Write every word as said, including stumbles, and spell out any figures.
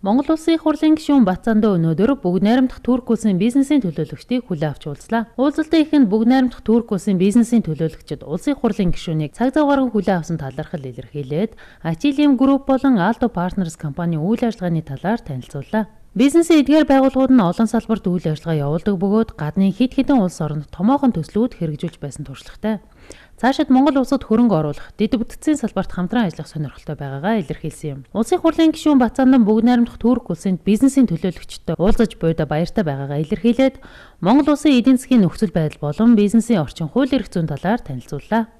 Монгол Улсын их хурлын гишүүн Бацаандаа өнөөдөр Бүгд найрамдах Турк улсын бизнесийн төлөөлөгчдийг хүлээн авч уулзлаа. Уулзалтын эхэнд Бүгд найрамдах Турк улсын бизнесийн төлөөлөгчид улсын их хурлын гишүүнийг цаг завгааргүй хүлээн авсан талархал илэрхийлээд Ачилим Групп болон Aldo Partners компанийн үйл ажиллагааны талаар танилцууллаа. Бизнесийн эдгээр байгууллагууд нь олон салбарт үйл ажиллагаа явуулдаг бөгөөд гадны хэд хэдэн улс оронд томоохон төслүүд хэрэгжүүлж байсан туршлагатай. Цаашид Монгол улсад хөрөнгө оруулах, дэд бүтцийн салбарт хамтран ажиллах сонирхолтой байгаагаа илэрхийлсэн юм. Улсын их хурлын гишүүн Бацаандан Бүгд найрамдах Турк улсын бизнесийн төлөөлөгчдөө уулзаж буйда баяртай байгаагаа илэрхийлээд Монгол улсын эдийн засгийн нөхцөл байдал болон бизнесийн орчин хууль эрх зүйн талаар танилцууллаа.